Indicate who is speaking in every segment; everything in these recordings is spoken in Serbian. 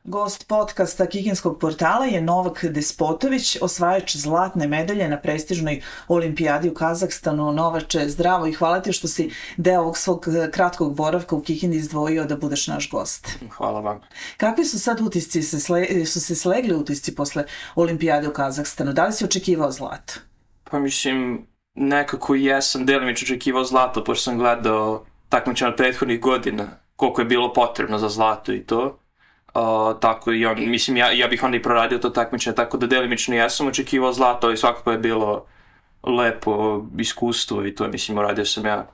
Speaker 1: Gost podcasta Kikinskog portala je Novak Despotović, osvajač zlatne medalje na prestižnoj olimpijadi u Kazahstanu. Novače, zdravo i hvala ti što si deo ovog svog kratkog boravka u Kikindi izdvojio da budeš naš gost.
Speaker 2: Hvala vam.
Speaker 1: Kakvi su sad utisci, su se slegli utisci posle olimpijade u Kazahstanu? Da li si očekivao zlato?
Speaker 2: Pa mislim, nekako jesam delimično očekivao zlato, pošto sam gledao takmičenja od prethodnih godina, koliko je bilo potrebno za zlato i to. Tako i on, mislim, ja bih onda i proradio to takmičenje, tako da delimično jesam očekivao zlato, ali svakako je bilo lepo iskustvo i to, mislim, uradio sam ja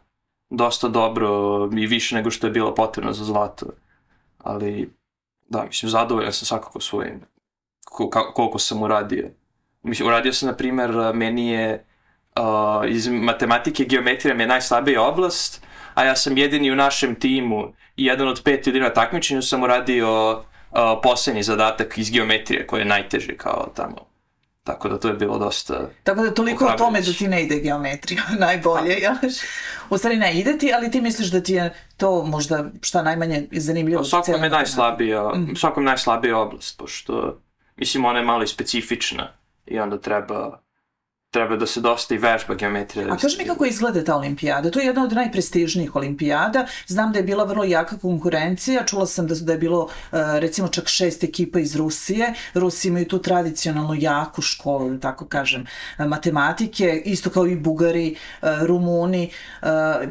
Speaker 2: dosta dobro i više nego što je bilo potrebno za zlato. Ali, da, mislim, zadovoljan sam svakako svojim, koliko sam uradio. Mislim, uradio sam, na primjer, meni je iz matematike geometrija mi je najslabija oblast, a ja sam jedini u našem timu i jedan od 5 ljudi na takmičenju sam uradio poslednji zadatak iz geometrije koji je najteži kao tamo. Tako da to je bilo dosta...
Speaker 1: Tako da toliko o tome da ti ne ide geometrija, najbolje, jel'š? U stvari ne ide ti, ali ti misliš da ti je to možda šta najmanje zanimljivo?
Speaker 2: Svakom je najslabija oblast, pošto mislim ona je malo i specifična i onda treba da se dosta i vežba geometrija.
Speaker 1: A kaži mi kako izgleda ta olimpijada? To je jedna od najprestižnijih olimpijada. Znam da je bila vrlo jaka konkurencija. Čula sam da je bilo recimo čak 6 ekipa iz Rusije. Rusi imaju tu tradicionalno jaku školu, da tako kažem, matematike, isto kao i Bugari, Rumuni.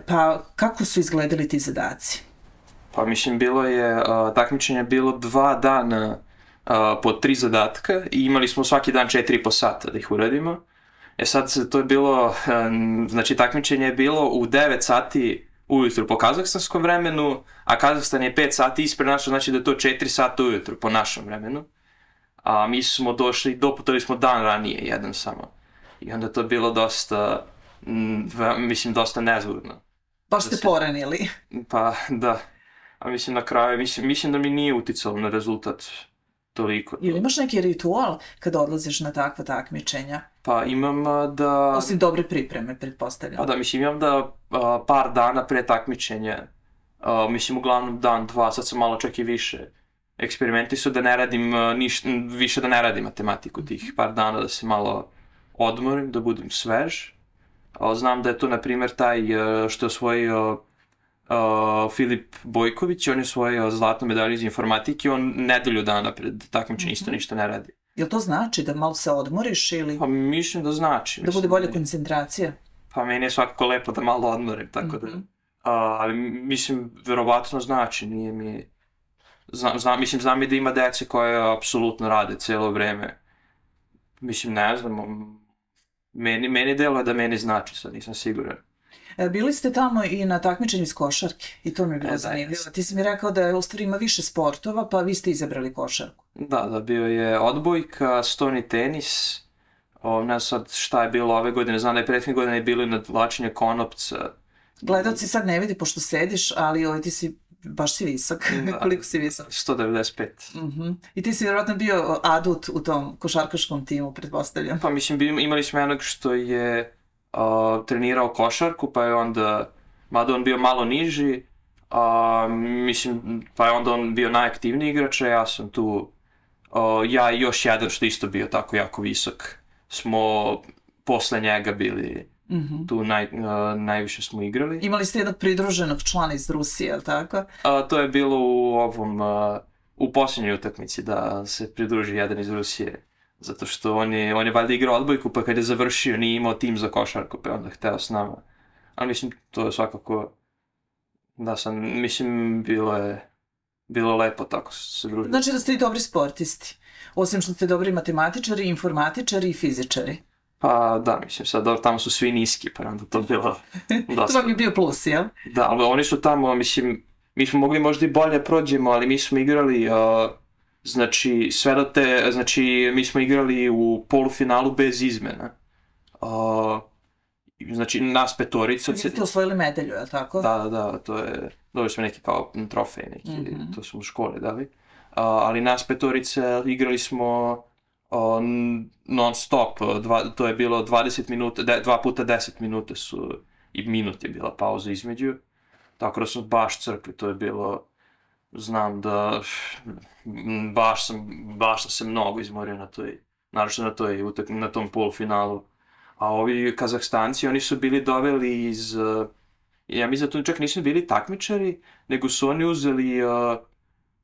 Speaker 1: Pa kako su izgledali ti zadaci?
Speaker 2: Pa mislim, takmičenje je bilo 2 dana po 3 zadatka i imali smo svaki dan 4,5 sata da ih uradimo. Sad to je bilo, znači takmičenje je bilo u 9 sati ujutru po kazahstanskom vremenu, a Kazahstan je 5 sati ispred našo, znači da je to 4 sata ujutru po našem vremenu. A mi smo doputovali smo dan ranije, jedan samo. I onda to je bilo dosta, mislim, dosta nezgodno.
Speaker 1: Baš ste poranili.
Speaker 2: Pa, da. A mislim na kraju, mislim da mi nije uticalo na rezultat toliko.
Speaker 1: Ili imaš neki ritual kada odlaziš na takva takmičenja?
Speaker 2: Pa imam da...
Speaker 1: Osim dobre pripreme, pretpostavljam.
Speaker 2: Pa da, mislim, imam da par dana pre takmičenja, mislim, uglavnom dan, 2, sad sam malo čak i više eksperimentisao da ne radim više da ne radim matematiku tih par dana, da se malo odmorim, da budem svež. Znam da je to, na primjer, taj što je osvojio Filip Bojković, on je osvojio zlatnu medalju iz informatike, on nedelju dana pred takmičenjem isto ništa ne radi.
Speaker 1: Jel to znači da malo se odmoriš ili...
Speaker 2: Pa mislim da znači.
Speaker 1: Da bude bolja koncentracija?
Speaker 2: Pa meni je svakako lepo da malo odmorim, tako da... Ali mislim, verovatno znači, nije mi... Znam i da ima dece koje apsolutno rade cijelo vreme. Mislim, ne znam, meni deluje da meni znači, sad nisam siguran.
Speaker 1: Bili ste tamo i na takmičenju iz košarke i to mi je bilo zanimljivo. Ti si mi rekao da u stvari ima više sportova, pa vi ste izabrali košarku.
Speaker 2: Da, bio je odbojka, stoni tenis, ne znam sad šta je bilo ove godine, znam da je prethodne godine bilo i nadvlačenje konopca.
Speaker 1: Gledalci sad ne vidi pošto sediš, ali ti si, baš si visok. Koliko si visok?
Speaker 2: 195.
Speaker 1: I ti si vjerojatno bio adut u tom košarkaškom timu, pretpostavljam.
Speaker 2: Pa mislim, imali smo jednog što je trenirao košarku, pa je onda, mada on bio malo niži, mislim, pa je onda on bio najaktivniji igrač, a ja sam tu, ja i još jedan što isto bio tako jako visok, smo posle njega bili tu, najviše smo igrali.
Speaker 1: Imali ste jednog pridruženog člana iz Rusije, je li tako?
Speaker 2: To je bilo u posljednjoj utakmici da se pridruži jedan iz Rusije. Zato što on je valjda igrao odbojku, pa kad je završio nije imao tim za košarku, pa je onda hteo s nama. Ali mislim, to je svakako, mislim, bilo lepo tako se družiti.
Speaker 1: Znači da ste i dobri sportisti, osim što ste dobri matematičari, informatičari i fizičari.
Speaker 2: Pa da, mislim, sad tamo su svi niski, pa onda to bilo dosta.
Speaker 1: To vam je bio plus, jel?
Speaker 2: Da, ali oni su tamo, mislim, mi smo mogli možda i bolje prođemo, ali mi smo igrali... Znači, mi smo igrali u polufinalu bez izmena. Znači, nas petorica...
Speaker 1: Vi ste osvojili medalju, je li tako?
Speaker 2: Da, to je... Dobili smo neki kao trofej, to smo u škole dali. Ali nas petorica igrali smo non stop, to je bilo 20 minuta, 2 puta 10 minuta su, i minut je bila pauza između. Tako da smo baš crkli, to je bilo znam da baš sam se mnogo izmorio naročito na tom polufinalu. A ovi Kazahstanci, oni su bili doveli iz, ja mislim da tu čak nisu bili takmičari, nego su oni uzeli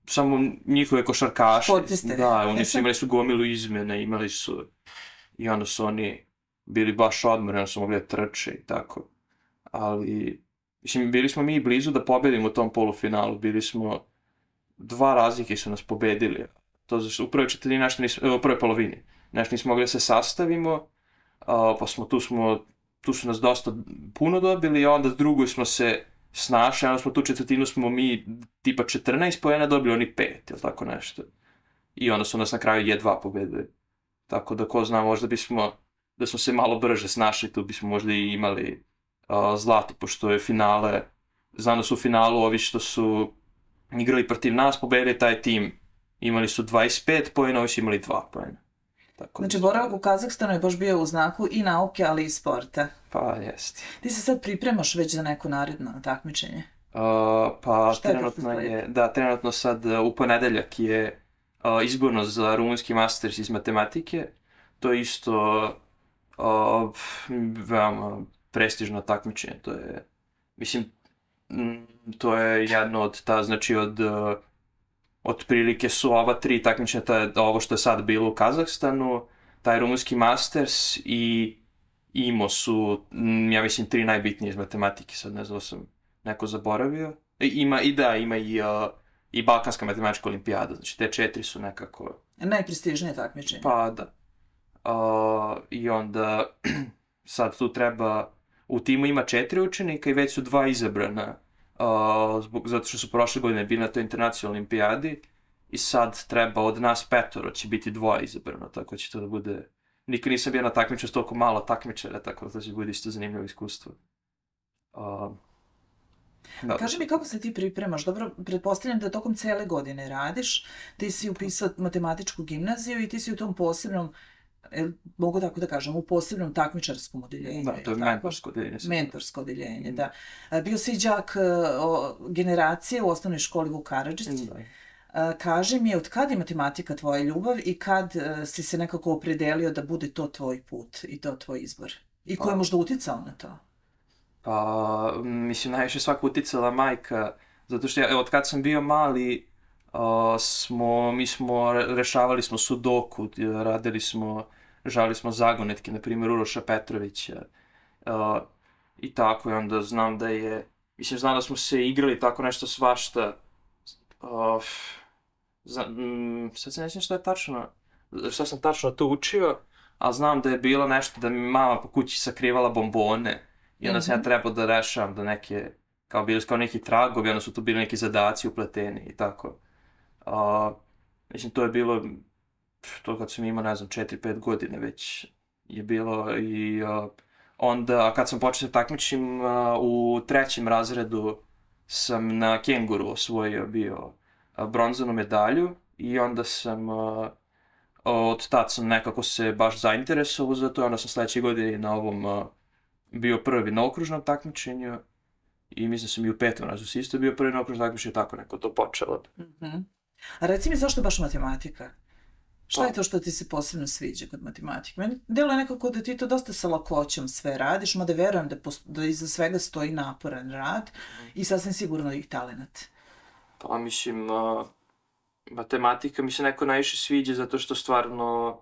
Speaker 2: samo njihove košarkaše.
Speaker 1: Sportiste.
Speaker 2: Da, oni su imali gomilu izmjene, i onda su oni bili baš odmorni, onda su mogli da trče i tako. Ali, mislim, bili smo mi blizu da pobedimo u tom polufinalu, bili smo, 2 razlike su nas pobedili. To znači, u prvoj polovini. Nešto nismo mogli da se sastavimo, pa tu su nas dosta puno dobili, i onda drugoj smo se snašli, onda smo tu četvrtinu smo mi tipa 14 poena dobili, oni 5, ili tako nešto. I onda su nas na kraju jedva pobedili. Tako da ko zna, možda da smo se malo brže snašli, tu bismo možda i imali zlato, pošto je finale, znam da su u finalu ovi što su igrali protiv nas, pobedili taj tim, imali su 25 poena, ovi su imali 2 poena.
Speaker 1: Znači, boravak u Kazahstanu je baš bio u znaku i nauke, ali i sporta.
Speaker 2: Pa, jeste.
Speaker 1: Ti se sad pripremaš već za neko naredno takmičenje?
Speaker 2: Pa, trenutno sad u ponedeljak je izborno za rumunski masters iz matematike. To je isto veoma prestižno takmičenje. To je jedno od otprilike su ova 3 takmičenja, ovo što je sad bilo u Kazahstanu, taj rumunski masters i IMO su, ja mislim, 3 najbitnije iz matematike, sad ne znam da sam neko zaboravio. Ima i Balkanska matematička olimpijada, znači te 4 su nekako...
Speaker 1: Najprestižnije takmičenje.
Speaker 2: Pa da. I onda sad tu treba, u timu ima 4 učenika i već su 2 izabrana, zato što su prošle godine bili na toj internacionalnoj olimpijadi, i sad treba od nas 5 će biti 2 izabrano, tako će to da bude... Nikad nisam bio na takmičenju s toliko malo takmičara, tako da to će bude isto zanimljivo iskustvo.
Speaker 1: Kaži mi kako se ti pripremaš, dobro, pretpostavljam da tokom cele godine radiš, ti si upisao matematičku gimnaziju i ti si u tom posebnom, mogu tako da kažem, u posebnom takmičarskom odeljenju.
Speaker 2: Da, to je mentorsko odeljenje.
Speaker 1: Mentorsko odeljenje, da. Bio si đak generacije u osnovnoj školi Vuk Karadžić. Kaži mi, od kad je matematika tvoja ljubav i kad si se nekako opredelio da bude to tvoj put i to tvoj izbor? I ko je možda uticao na to?
Speaker 2: Pa, mislim, najviše svako uticala majka, zato što od kad sam bio mali, rešavali smo sudoku, žali smo zagonetke, na primjer Uroša Petrovića, i tako, i onda znam da smo se igrali tako nešto svašta, sad se ne sjećam što sam tačno to učio, ali znam da je bilo nešto da mi mama po kući sakrivala bombone, i onda sam ja trebao da rešavam da bili su kao neki tragovi, onda su tu bili neki zadaci upleteni i tako. Mislim, to je bilo, to kad sam imao, ne znam, 4-5 godine već je bilo, i onda kad sam počeo takmičim u 3. razredu sam na kenguru osvojio bio bronzanu medalju, i onda sam od tad sam nekako se baš zainteresovao za to, onda sam sledeće godine na ovom bio prvi na okružnom takmičenju, i mislim da sam i u 5. razredu isto bio prvi na okružnom takmičenju, tako neko to počelo.
Speaker 1: A reci mi, zašto baš matematika? Šta je to što ti se posebno sviđa kod matematike? Meni deluje nekako da ti to dosta sa lakoćom sve radiš, mada verujem da iza svega stoji naporan rad i sasvim sigurno i talenat.
Speaker 2: Pa mislim, matematika mi se neko najviše sviđa zato što stvarno,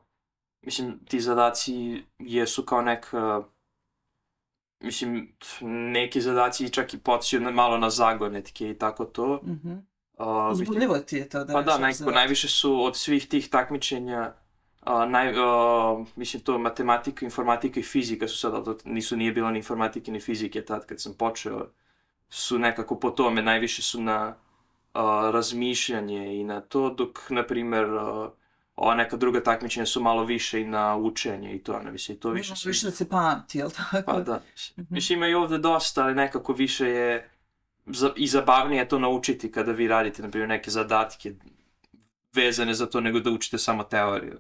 Speaker 2: mislim, ti zadaci jesu kao neka, mislim, neki zadaci čak i podsjećaju malo na zagonetke i tako to.
Speaker 1: Uzbudljivo ti je to da
Speaker 2: pa da, najviše su od svih tih takmičenja, mislim, to matematika, informatika i fizika su sad, nije bilo ni informatike ni fizike tad kad sam počeo, su nekako po tome, najviše su na razmišljanje i na to, dok, na primer, ova neka druga takmičenja su malo više i na učenje i to, mislim, i to više...
Speaker 1: Više da se pamti, jel tako?
Speaker 2: Pa da, mislim, ima i ovde dosta, ali nekako više je i zabavnije to naučiti kada vi radite, na primjer, neke zadatke vezane za to, nego da učite samo teoriju.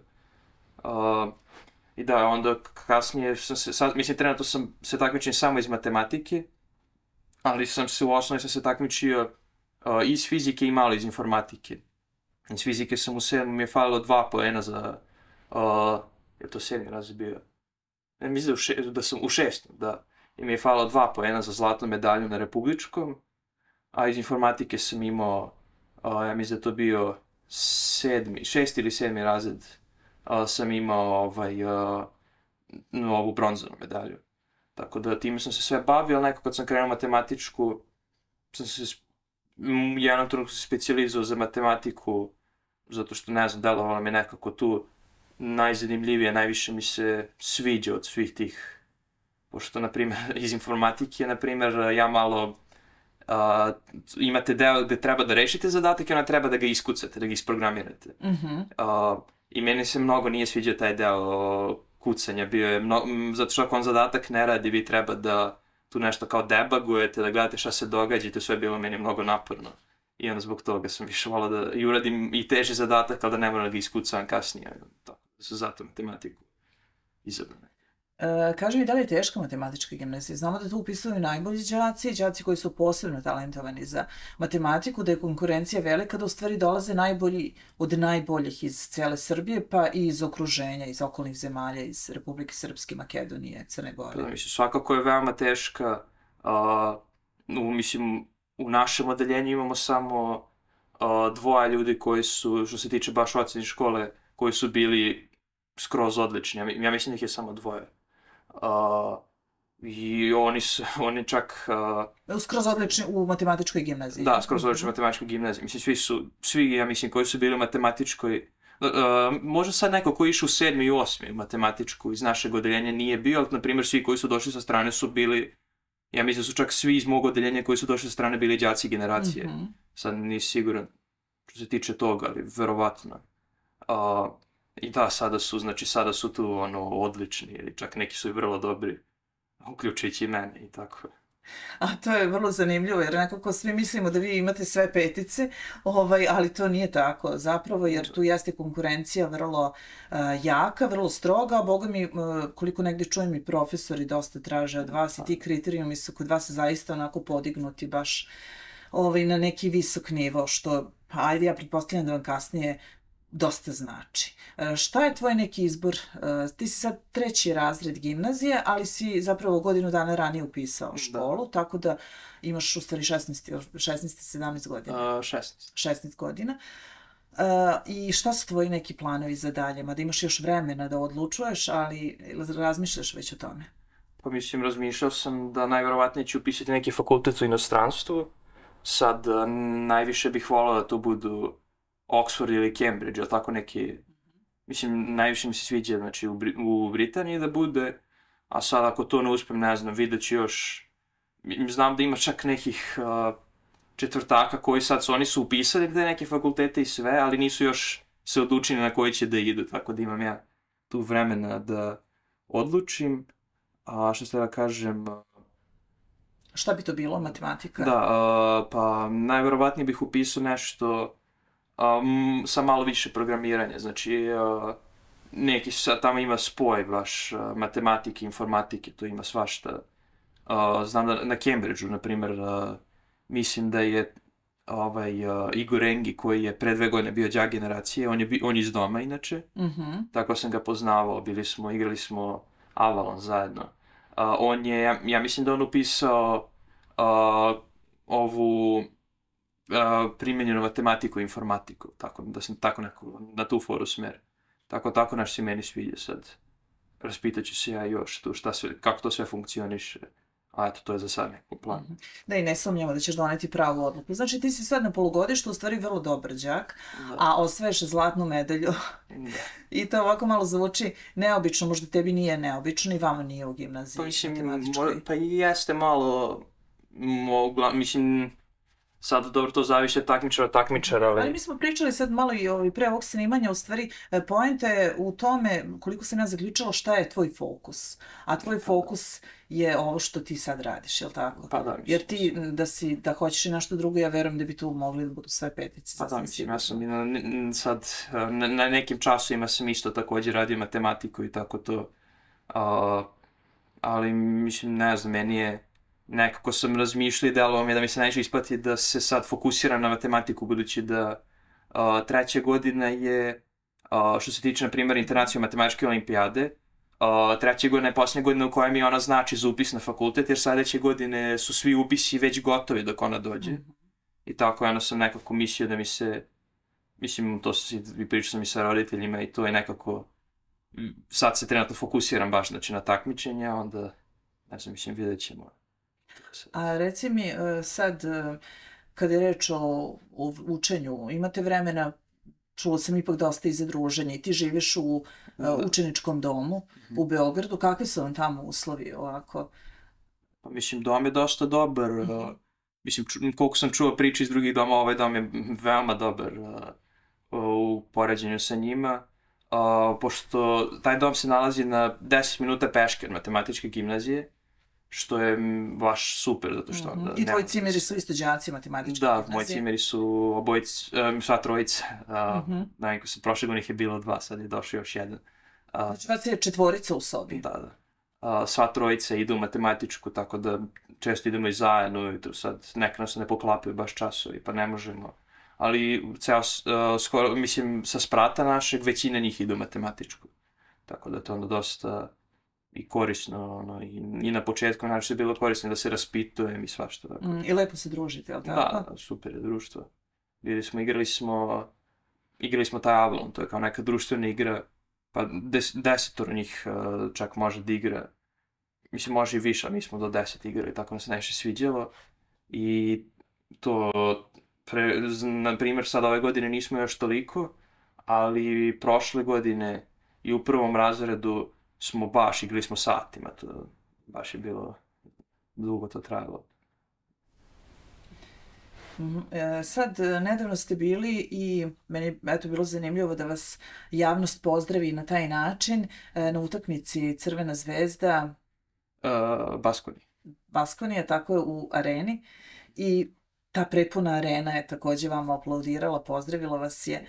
Speaker 2: I da, onda kasnije, mislim, trenutno sam se takmičio samo iz matematike, ali u osnovi sam se takmičio iz fizike i malo iz informatike. Iz fizike sam u 7. mi je falilo 2 poena za, je to 7. razred bio? Ne, mislim da sam u 6. da. I mi je falilo 2 poena za zlatnu medalju na republičkom, a iz informatike sam imao, ja mislim da to bio 6. ili 7. razred, sam imao ovu bronzanu medalju. Tako da time sam se sve bavio, ali nekako kad sam krenuo matematičku, sam se u jednom trenutku se specijalizovao za matematiku, zato što, ne znam, delovalo mi nekako tu najzanimljivije, najviše mi se sviđa od svih tih, pošto, na primjer, iz informatike, na primjer, ja malo, imate deo gde treba da rešite zadatak i onda treba da ga iskucate, da ga isprogramirate. I meni se mnogo nije sviđao taj deo kucanja, bio je zato što ako on zadatak ne radi, vi treba da tu nešto kao debagujete, da gledate šta se događa i to sve je bilo meni mnogo naporno. I onda zbog toga sam više volao da i uradim i teži zadatak, ali da ne moram da ga iskucam kasnije. Tako da su zato matematiku izabrane.
Speaker 1: Kaži mi, da li je teška matematička gimnazija? Znamo da tu upisuju najbolji đaci koji su posebno talentovani za matematiku, da je konkurencija velika, da u stvari dolaze najbolji od najboljih iz cele Srbije, pa i iz okruženja, iz okolnih zemalja, iz Republike Srpske, Makedonije, Crne Gore.
Speaker 2: Da, mislim, svakako je veoma teška. Mislim, u našem odeljenju imamo samo 2 ljudi koji su, što se tiče baš ocene škole, koji su bili skroz odlični. Ja mislim da ih je samo 2. I oni čak...
Speaker 1: Skroz odlični u matematičkoj gimnaziji.
Speaker 2: Da, skroz odlični u matematičkoj gimnaziji. Mislim, svi, ja mislim, koji su bili u matematičkoj... Možda sad neko koji je išao u 7. i 8. matematičku iz našeg odeljenja nije bio, ali, na primjer, svi koji su došli sa strane su bili... Ja mislim da su čak svi iz mog odeljenja koji su došli sa strane bili đaci generacije. Sad nisi siguran što se tiče toga, ali verovatno. I da, sada su tu odlični, ili čak neki su i vrlo dobri, uključujući i mene i tako.
Speaker 1: A to je vrlo zanimljivo, jer nekako svi mislimo da vi imate sve petice, ali to nije tako zapravo, jer tu jeste konkurencija vrlo jaka, vrlo stroga, a boga mi, koliko negdje čujem i profesori dosta traže od vas i ti kriterijumi su kod vas zaista onako podignuti baš na neki visok nivo, što, ajde, ja pretpostavljam da vam kasnije dosta znači. Šta je tvoj neki izbor? Ti si sad 3. razred gimnazije, ali si zapravo godinu dana ranije upisao školu, tako da imaš u stvari 16-17 godina. 16 godina. I šta su tvoji neki planovi za dalje? Mada imaš još vremena da odlučuješ, ali razmišljaš već o tome?
Speaker 2: Pa mislim, razmišljao sam da najverovatnije ću upisati neki fakultet u inostranstvu. Sad, najviše bih volao da to budu Oxford ili Cambridge, ili tako neki, mislim, najviše mi se sviđa, znači, u Britaniji da bude, a sad ako to ne uspem, ne znam, vidjet ću još, znam da ima čak nekih četvrtaka koji sad oni su upisali gde neke fakultete i sve, ali nisu još se odlučili na koji će da idu, tako da imam ja tu vremena da odlučim, a što ste da kažem...
Speaker 1: Šta bi to bilo, matematika?
Speaker 2: Da, pa najverovatnije bih upisao nešto sa malo više programiranja, znači neki sad tamo ima spoj baš matematike, informatike, to ima svašta. Znam da na Cambridgeu, na primjer, mislim da je Igor Engi koji je pre 2 godine bio đak generacije, on je iz doma inače, tako sam ga poznavao, igrali smo Avalon zajedno. On je, ja mislim da on upisao ovu primenjenu matematiku i informatiku, tako da sam tako neko na tu foru smer. Tako naš se meni sviđa sad. Raspitaću se ja još tu kako to sve funkcioniše. A eto, to je za sad neko plan.
Speaker 1: Da, i ne sumnjamo da ćeš doneti pravu odluku. Znači, ti si sad na polugodištu, u stvari vrlo dobar đak, a osvaješ zlatnu medalju. I to ovako malo zvuči neobično, možda tebi nije neobično i vama nije u gimnaziji.
Speaker 2: Pa mislim, pa jeste malo, mislim, sad, dobro, to zavisi od takmičara, ali...
Speaker 1: Ali mi smo pričali sad malo i pre ovog snimanja, u stvari, poenta je u tome, koliko sam ja zaključila, šta je tvoj fokus. A tvoj fokus je ovo što ti sad radiš, je li tako?
Speaker 2: Pa da, mislim.
Speaker 1: Jer ti, da hoćeš i nešto drugo, ja verujem da bi tu mogli da budu sve petice.
Speaker 2: Pa da, mislim, ja sam sad, na nekim časovima sam isto također radio matematiku i tako to. Ali, mislim, ne znam, meni je nekako sam razmišljao i delovalo mi je da mi se najviše isplati da se sad fokusiram na matematiku, budući da treća godina je, što se tiče, na primjer, internacionalne matematičke olimpijade, treća godina je posljednja godina u kojoj mi ona znači za upis na fakultet, jer sledeće godine su svi upisi već gotovi dok ona dođe. I tako, ono sam nekako mislio da mi se, mislim, to i pričao sam i sa roditeljima i to je nekako, sad se trenutno fokusiram baš, znači, na takmičenja, onda, ne znam, mislim, vidjet ćemo.
Speaker 1: A reci mi sad, kada je reč o učenju, imate vremena, čulo sam ipak dosta i za druženje, i ti živiš u učeničkom domu u Beogradu, kakvi su vam tamo uslovi ovako?
Speaker 2: Pa mislim, dom je dosta dobar, mislim, koliko sam čuo priče iz drugih doma, ovaj dom je veoma dobar u poređenju sa njima, pošto taj dom se nalazi na 10 minuta peške od matematičke gimnazije, što je baš super, zato što...
Speaker 1: I tvoji cimeri su isto đaci matematičke gimnazije?
Speaker 2: Da, moji cimeri su obojice, sva trojica. Najko se, prošle godine ih je bilo 2, sad je došao još jedan.
Speaker 1: Znači vas je 4 u sobi?
Speaker 2: Da. Sva trojica idu u matematičku, tako da često idemo i zajedno, i sad neka nas ne poklapaju baš časovi, pa ne možemo. Ali skoro, mislim, sa sprata našeg, većina njih idu u matematičku. Tako da to je onda dosta i korisno, i na početku znači je bilo korisno da se raspitujem i svašta.
Speaker 1: I lepo se družite, je li tako?
Speaker 2: Da, super je društvo. Igrali smo taj Avalon, to je kao neka društvena igra, pa 10 njih čak može da igra. Mislim, može i više, mi smo do 10 igrali, tako nam se najviše sviđalo. I to, na primjer, sad ove godine nismo još toliko, ali prošle godine i u prvom razredu smo baš, igrali smo satima, to baš je bilo, dugo to trajalo.
Speaker 1: Sad, nedavno ste bili i meni je eto bilo zanimljivo da vas javnost pozdravi na taj način na utakmici Crvena zvezda Baskonija, tako je, u areni, i ta prepuna arena je takođe vama aplaudirala, pozdravila vas je.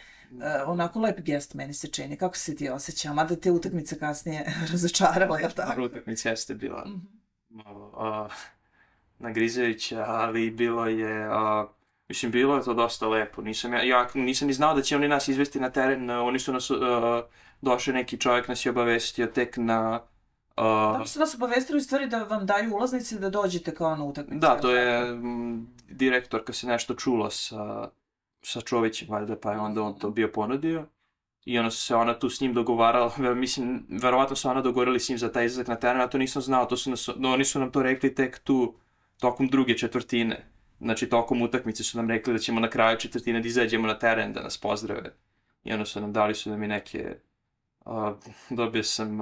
Speaker 1: Onako lep gest meni se čini. Kako se ti osjeća? Mada te utakmice kasnije razočarala, je li tako?
Speaker 2: Utakmica jeste bila malo nagrizajuća, ali bilo je, mislim, bilo je to dosta lepo. Ja nisam ni znao da će oni nas izvesti na teren, oni su nas, došli neki čovjek nas je obavestio tek na...
Speaker 1: Da su vas obavestili u stvari da vam daju ulaznice da dođete kao na utakmicu?
Speaker 2: Da, to je direktorka se nešto čula sa Čovićem, valjda, pa je onda on to bio ponudio. I onda se ona tu s njim dogovarala, mislim, verovatno su ona dogovorili s njim za taj izlazak na teren, a to nisam znao, oni su nam to rekli tek tu, tokom druge četvrtine. Znači, tokom utakmice su nam rekli da ćemo na kraju četvrtine da izađemo na teren, da nas pozdrave. I onda su nam dali da mi neke, dobio sam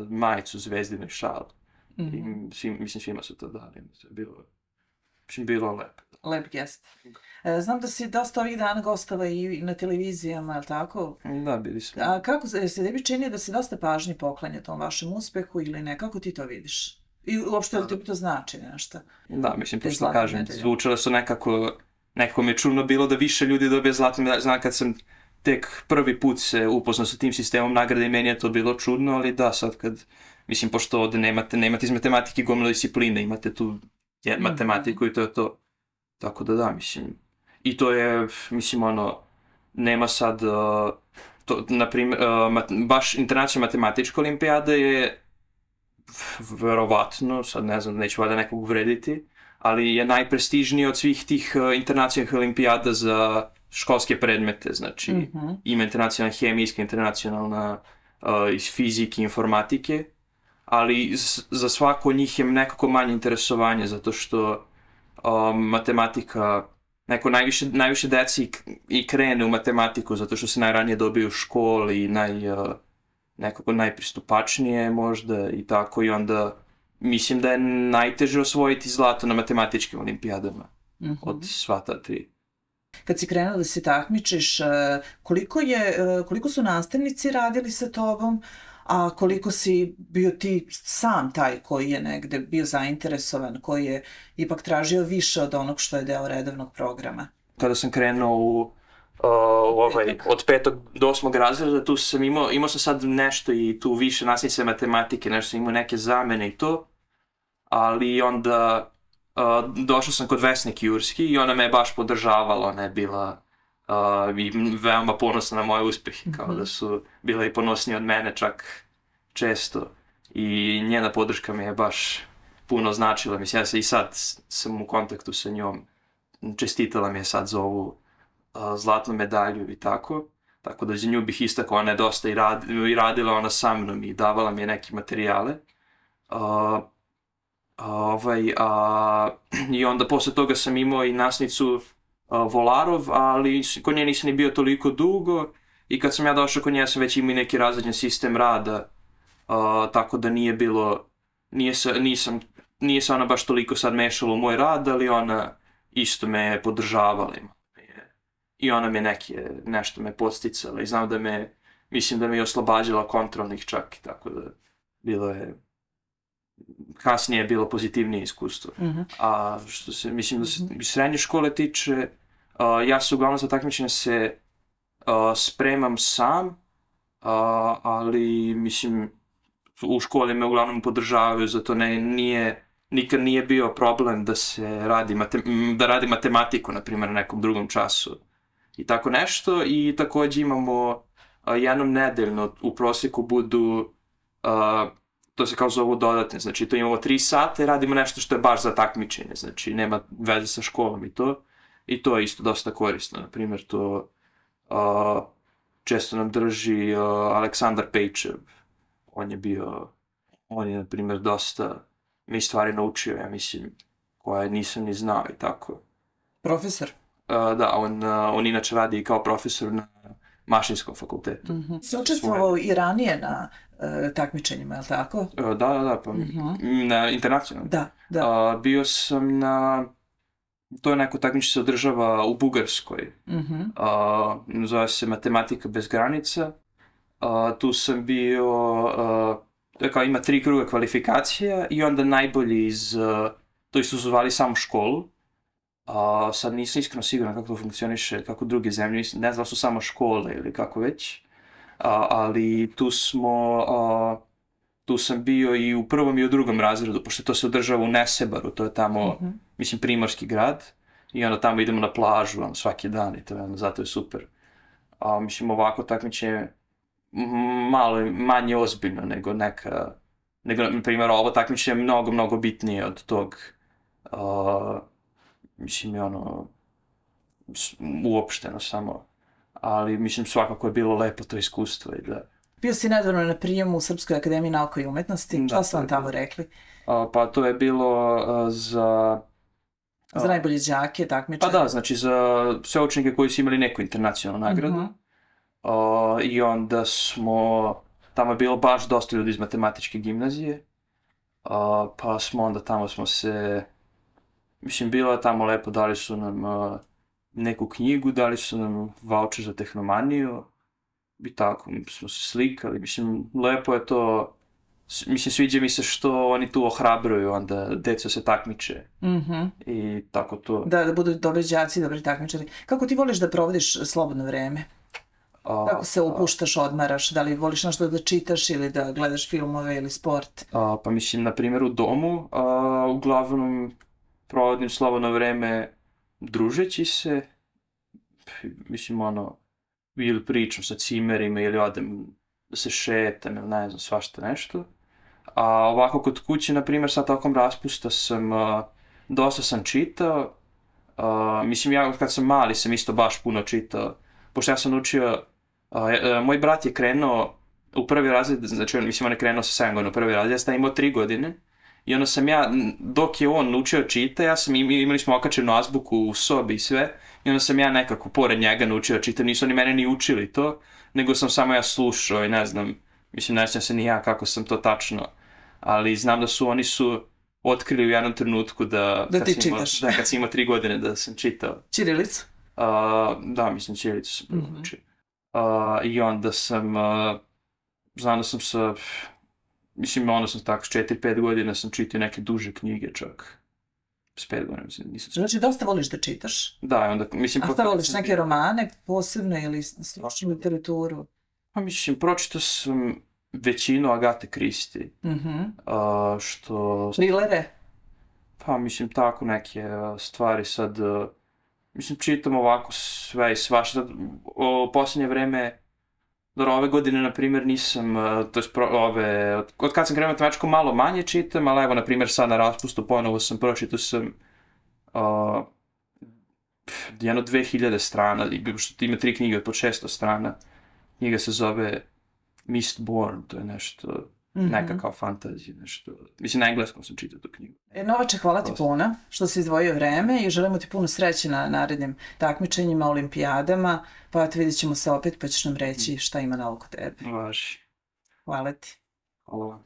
Speaker 2: majicu Zvezdinu i šal. I mislim, svima su to dali, bilo lepo.
Speaker 1: Lep gest. Znam da si dosta ovih dana gostava i na televizijama, ali tako?
Speaker 2: Da, bili smo.
Speaker 1: A kako se tebi čini da se dosta pažnje poklanja tom vašem uspehu ili ne? Kako ti to vidiš? I uopšte li ti to znači nešto?
Speaker 2: Da, mislim, to što kažem, zvučalo su nekako mi je čudno bilo da više ljudi dobije zlatnu medalju. Znam kad sam tek prvi put se upoznao sa tim sistemom nagrade i meni je to bilo čudno, ali da, sad kad, mislim, pošto ovde nemate iz matematike gomilu discipline, imate tu matematiku i to je to. Tako da, mislim, i to je, mislim, nema sad, na primjer, baš internacionalna matematička olimpijada je, verovatno, sad ne znam, neću valjda nekog uvrediti, ali je najprestižnija od svih tih internacionalnih olimpijada za školske predmete, znači ima internacionalna hemijska, internacionalna iz fizike, informatike, ali za svako od njih je nekako manje interesovanje, zato što matematika, neko najviše deci i krene u matematiku, zato što se najranije dobije u školi i nekako najpristupačnije možda i tako, i onda mislim da je najteže osvojiti zlato na matematičkim olimpijadama od sva ta 3.
Speaker 1: Kad si krenuo da se takmičiš, koliko su nastavnici radili sa tobom, a koliko si bio ti sam taj koji je negde bio zainteresovan, koji je ipak tražio više od onog što je deo redovnog programa?
Speaker 2: Kada sam krenuo od 5. do 8. razreda, tu sam imao sam sad nešto i tu više nastavnice matematike, nešto sam imao neke zamene i to, ali onda došao sam kod Vesne Kijurski i ona me je baš podržavala, ona je bila i veoma ponosna na moje uspehe, kao da su bila i ponosnije od mene čak često i njena podrška mi je baš puno značila, mislim, ja i sad sam u kontaktu sa njom, čestitala mi je sad za ovu zlatnu medalju i tako da za nju bih istakao, ona je dosta i radila ona sa mnom i davala mi je neke materijale. I onda posle toga sam imao i nasnicu Volarov, ali kod nje nisam ni bio toliko dugo i kad sam ja došao kod nje sam već imao i neki razređen sistem rada, tako da nije bilo, nije se ona baš toliko sad mešala u moj rad, ali ona isto me podržavala i ona me nešto me podsticala i znam mislim da me je oslobađala kontrolnih čak, tako da bilo je, kasnije je bilo pozitivnije iskustvo. A što se, mislim da se srednje škole tiče, ja se uglavnom za takmičenje se spremam sam, ali mislim u školi me uglavnom podržavaju, zato nikad nije bio problem da se radi matematiku, na primjer, na nekom drugom času i tako nešto. I takođe imamo jednom nedeljno u prosjeku budu, to se kao zovu dodatne, znači to imamo 3 sata i radimo nešto što je baš za takmičenje, znači nema veze sa školom i to je isto dosta korisno. Na primjer, to često nam drži Aleksandar Pejčev, on je na primjer dosta mi stvari naučio, ja mislim, koje nisam ni znao i tako.
Speaker 1: Profesor?
Speaker 2: Da, on inače radi i kao profesor na Mašinskom fakultetu.
Speaker 1: Si učestvovao i ranije na takmičenjima, je li tako?
Speaker 2: Da, pa na internacionalnom.
Speaker 1: Da.
Speaker 2: Bio sam to je neko takmičenje se održava u Bugarskoj. Zove se Matematika bez granica. Tu sam bio, kao ima 3 kruga kvalifikacija i onda najbolji to isto su zvali samo školu. Sad nisam iskreno siguran kako to funkcioniše, kako druge zemlje, ne znam su samo škole ili kako već, ali tu sam bio i u prvom i u drugom razredu, pošto to se održava u Nesebaru, to je tamo, mislim, primorski grad, i onda tamo idemo na plažu svaki dan i zato je super. Mislim, ovako takmičenje malo manje ozbiljno nego na primjer, ovo takmičenje je mnogo, mnogo bitnije od tog, mislim, je uopšteno samo, ali mislim svakako je bilo lepo to iskustvo i da...
Speaker 1: Bio si nedavno na prijemu u Srpskoj akademiji nauka i umetnosti, šta su vam tamo rekli?
Speaker 2: Pa to je bilo za...
Speaker 1: Za najbolje đake, takmičare?
Speaker 2: Pa da, znači za sve učenike koji su imali neku internacionalnu nagradu. I onda tamo je bilo baš dosta ljudi iz matematičke gimnazije, pa tamo smo se... Mislim, bilo je tamo lepo, dali su nam neku knjigu, dali su nam vaučer za tehnomaniju i tako smo se slikali. Mislim, lepo je to, mislim, sviđa mi se što oni tu ohrabruju, onda deca se takmiče i tako to.
Speaker 1: Da budu dobri đaci, dobri takmičari. Kako ti voliš da provodiš slobodno vreme? Kako se upuštaš, odmaraš? Da li voliš nešto da čitaš ili da gledaš filmove ili sport?
Speaker 2: Pa mislim, na primjer, u domu, uglavnom provodim slobodno vreme družeći se, mislim, ili pričam sa cimerima ili odem da se šetam ili ne znam, svašta nešto. A ovako kod kuće, na primjer, sad tokom raspusta dosta sam čitao. Mislim, ja kad sam mali sam isto baš puno čitao, pošto ja sam učio, moj brat je krenuo u prvi razred, znači, mislim, on je krenuo sa 7 godina u prvi razred, ja sam imao 3 godine. I onda sam ja, dok je on učio čita, imali smo okačenu azbuku u sobi i sve, i onda sam ja nekako pored njega naučio čita, nisu oni mene ni učili to, nego sam samo ja slušao i ne znam, mislim, ne znam se ni ja kako sam to tačno, ali znam da oni su otkrili u jednom trenutku da
Speaker 1: ti čitaš.
Speaker 2: Da, kad sam imao 3 godine da sam čitao.
Speaker 1: Ćirilicu?
Speaker 2: Da, mislim, ćirilicu sam prvo učio. I onda znam da sam sa... Mislim, onda sam tako, s 4-5 godina sam čitao neke duže knjige čak. S 5 godina, mislim, nisam čitao.
Speaker 1: Znači, dosta voliš da čitaš?
Speaker 2: Da, onda, mislim...
Speaker 1: A šta voliš, neke romane posebne ili stručnu literaturu?
Speaker 2: Pa mislim, pročitao sam većinu Agate Kristi. Što...
Speaker 1: Trilere?
Speaker 2: Pa mislim tako neke stvari sad, mislim čitam ovako sve i svašta, o posljednje vreme, dobro, ove godine, na primjer, nisam, to je od kad sam krenuo matematičko malo manje čitam, ali evo, na primjer, sad na raspustu ponovo sam pročitao sam jedno 2000 strana, što ima 3 knjige od po 600 strana. Knjiga se zove Mistborn, to je nešto, neka kao fantazija, nešto. Mislim, na engleskom sam čitao tu knjigu.
Speaker 1: Novače, hvala ti puno što si izdvojio vreme i želimo ti puno sreće na narednim takmičenjima, olimpijadama, pa eto vidjet ćemo se opet pa ćeš nam reći šta ima novo kod tebe.
Speaker 2: Važi.
Speaker 1: Hvala ti.
Speaker 2: Hvala vam.